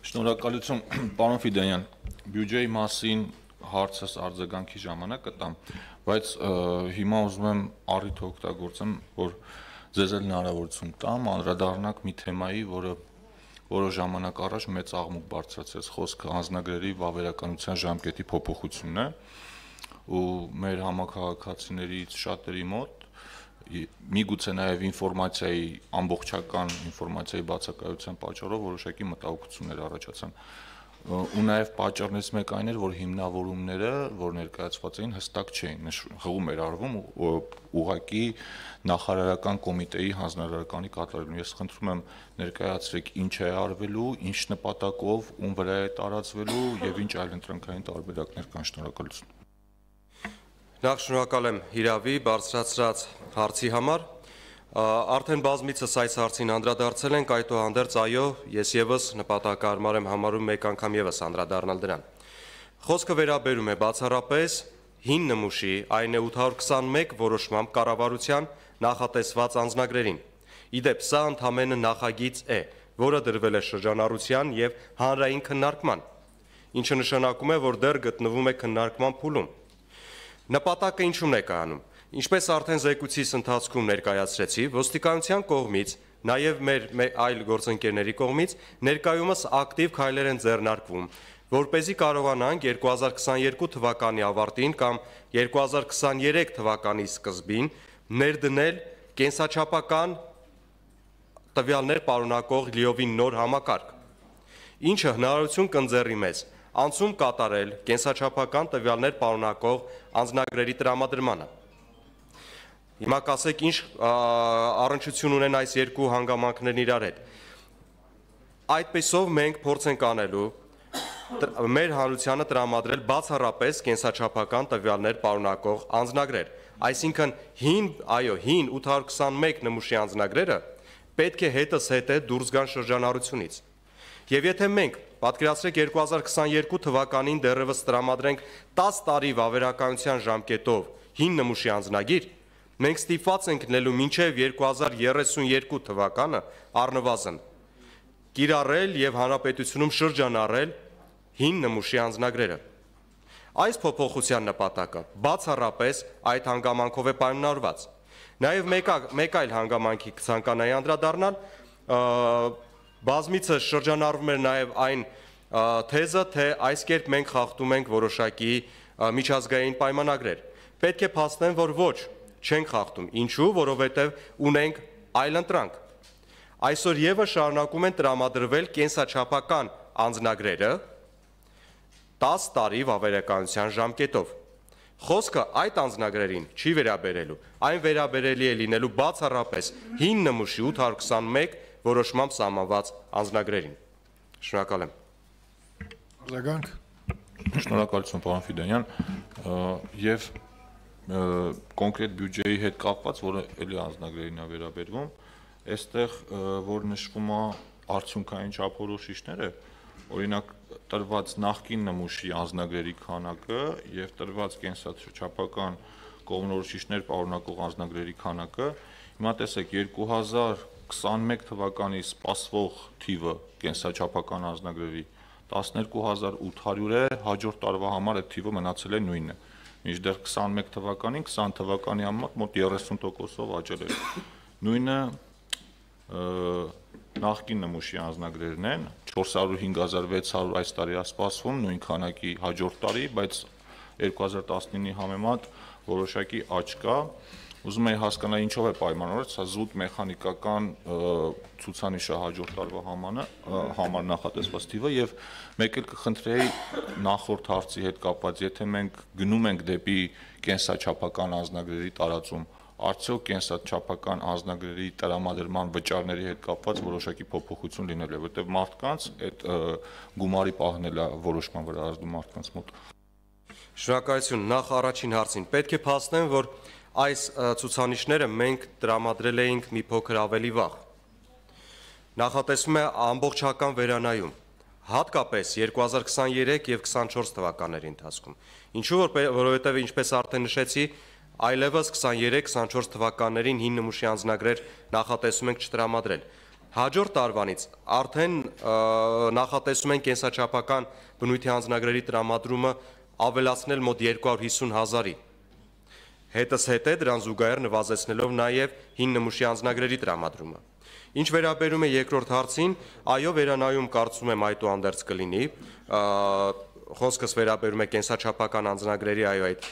Շնորհակալություն, պարոն Ֆիդանյան, բյուջեի մասին հարցս արձագանքի ժամանակ կտամ, բայց հիմա ուզում եմ առիթ օգտագործեմ, որ ձեզ էլ հնարավորություն տամ, անդրադառնանք մի թեմայի, որը որոշ ժամանակ առաջ մեծ աղմուկ բարձրացրեց, խոսքը անձնագրերի վավերականության ժամկետի փոփոխությունն է, ու մեր համաքաղաքացիներից շատերի մոտ միգուցե նաև ինֆորմացիայի ամբողջական ինֆորմացիայի բացակայության պատճառով որոշակի մտահոգություններ առաջացան, ու նաև պատճառներից մեկը այն էր, որ հիմնավորումները, որ ներկայացված էին, հստակ չէին, հղում էր արվում ուղղակի նախարարական կոմիտեի հանձնարարականի կատարելուն։ Ես խնդրում եմ ներկայացրեք ինչ է արվելու, ինչ նպատակով, ում վրա է տարածվելու եւ ինչ այլ ընտրանքային տարբերակներ կան։ Շնորհակալություն։ Նախ շնորհակալ եմ Հիրավի բարձրացրած հարցի համար։ Արդեն բազմիցս այս հարցին անդրադարձել ենք, այդուհանդերձ այո, ես եւս նպատակարար եմ համարում մեկ անգամ եւս անդրադառնալ դրան։ Խոսքը վերաբերում է բացառապես հին նմուշի, այն է 821 որոշմամբ կառավարության նախատեսված անձնագրերին։ Իդեպ սա ընդամենը նախագիծ է, որը դրվել է շրջանառության եւ հանրային քննարկման, ինչը նշանակում է, որ դեռ գտնվում է քննարկման փուլում։ Նպատակը ինչու՞մն է կայանում։ Ինչպես արդեն զեկույցիս ընթացքում ներկայացրեցի, ոստիկանության կողմից, նաև մեր այլ գործընկերների կողմից ներկայումս ակտիվ քայլեր են ձեռնարկվում, որպեսզի կարողանանք 2022 թվականի ավարտին կամ 2023 թվականի սկզբին ներդնել կենսաչափական տվյալներ պարունակող լիովին նոր համակարգ, ինչը հնարավորություն կընձեռի մեզ անցում կատարել կենսաչափական տվյալներ պարունակող անձնագրերի տրամադրմանը։ Հիմա կասեք ինչ առնչություն ունեն այս երկու հանգամանքներն իրար հետ։ Այդպեսով մենք փորձ ենք անելու մեր հանրությանը տրամադրել բացառապես կենսաչափական տվյալներ պարունակող անձնագրեր, այսինքն հին 821 նմուշի անձնագրերը պետք է հետզհետե դուրս գան շրջանառությունից։ Եվ եթե մենք պատկերացրեք 2022 թվականին դեռևս տրամադրենք 10 տարի վավերականության ժամկետով հին նմուշի անձնագիր, մենք ստիպված ենք լինելու մինչև 2032 թվականը առնվազն կիրառել եւ հանրապետությունում շրջանառել հին նմուշի անձնագրերը։ Այս փոփոխության նպատակը բացառապես այդ հանգամանքով է պայմանավորված։ Նաեւ մեկ այլ հանգամանքի կցանկանայի անդրադառնալ, բազմիցս շրջանառվում էր նաև այն թեզը, թե այս կերպ մենք խախտում ենք որոշակի միջազգային պայմանագրեր։ Պետք է փաստեմ, որ ոչ, չենք խախտում։ Ինչու՞, որովհետև ունենք այլընտրանք։ Այսօր եւս շարունակում են տրամադրվել կենսաչափական անձնագրերը 10 տարի վավերականության ժամկետով։ Խոսքը այդ անձնագրերին չի վերաբերելու, այն վերաբերելի է լինելու բացառապես հին նմուշի 821 որոշմամբ սահմանված անձնագրերին։ Շնորհակալ եմ։ Արձագանք։ Շնորհակալություն, պարոն Ֆիդանյան, եւ կոնկրետ բյուջեի հետ կապված, որը էլի անձնագրերին է վերաբերվում, այստեղ որ նշվում է արդյունքային չափորոշիչները, օրինակ տրված նախկին նմուշի անձնագրերի քանակը եւ տրված կենսաչափական կողմնորոշիչներ պարունակող անձնագրերի քանակը, հիմա տեսեք 2021 թվականի սպասվող թիվը կենսաչափական անձնագրերի 12800 է, հաջորդ տարվա համար այդ թիվը մնացել է նույնը, մինչդեռ 21 թվականին 20 թվականի համար մոտ 30%-ով աճել է։ Նույնը նախկին նմուշի անձնագրերն են, 405,600 այս տարի է սպասվում, նույն քանակի հաջորդ տարի, բայց 2019-ի համեմատ որոշակի աճ կա։ Ուզում եի հասկանալ ինչով է պայմանավորված, սա զուտ մեխանիկական ցուցանիշը հաջորդ տարվա համար նախատեսված թիվը եւ մեկ էլ կխնդրեի նախորդ հարցի հետ կապված, եթե մենք գնում ենք դեպի կենսաչափական անձնագրերի տարածում, արդյոք կենսաչափական անձնագրերի տրամադրման վճարների հետ կապված որոշակի փոփոխություն լինելու է, որտեղ մարդկանց այդ գումարի պահն է որոշման վրա ազդում մարդկանց մոտ։ Շնորհակալություն, նախ առաջին հարցին պետք է փաստեմ, որ այս ցուցանիշները մենք տրամադրել էինք մի փոքր ավելի վաղ։ Նախատեսվում է ամբողջական վերանայում, հատկապես 2023 եւ 24 թվականների ընթացքում։ Ինչու որովհետեւ ինչպես արդեն նշեցի, այլևս 23-24 թվականներին հին նմուշի անձնագրեր նախատեսում ենք չտրամադրել։ Հաջորդ տարվանից արդեն նախատեսում են կենսաչափական բնույթի անձնագրերի տրամադրումը ավելացնել մոտ 250,000-ի։ Հետս հետ է դրան զուգահեռ նվազեցնելով նաև հին նմուշի անձնագրերի տրամադրումը։ Ինչ վերաբերում է երկրորդ հարցին, այո, վերանայում կարծում եմ այդուհանդերձ կլինի, խոսքս վերաբերում է կենսաչափական անձնագրերի այդ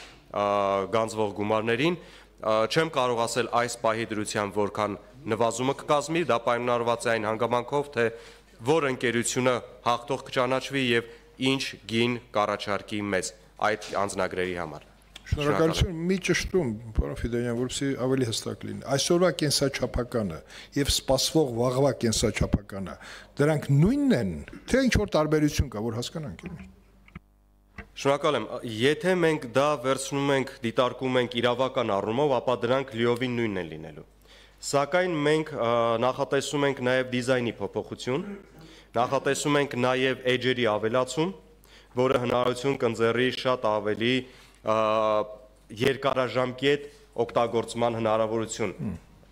գանձվող գումարներին, չեմ կարող ասել այս պահի դրությամբ որքան նվազումը կկազմի, դա պայմանավորված է այն հանգամանքով, թե որ ընկերությունը հաղթող կճանաչվի եւ ինչ գին կառաջարկի մեզ այդ անձնագրերի համար։ Շնորհակալություն, մի ճշտում, պարոն Ֆիդոյան, որպեսզի ավելի հստակ լինի։ Այսօրվա կենսաչափականը եւ սպասվող վաղվա կենսաչափականը, դրանք նույնն են, թե ինչ որ տարբերություն կա, որ հասկանանք։ Շնորհակալ եմ, եթե մենք դա վերցնում ենք, դիտարկում ենք իրավական առումով, ապա դրանք լիովին նույնն են լինելու։ Սակայն մենք նախատեսում ենք նաև դիզայնի փոփոխություն, նախատեսում ենք նաև էջերի ավելացում, որը հնարավորություն կընձեռի շատ ավելի երկարաժամկետ օգտագործման հնարավորություն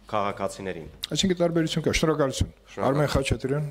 քաղաքացիներին։ Այսինքն տարբերություն կա։ Շնորհակալություն։ Արմեն Խաչատրյան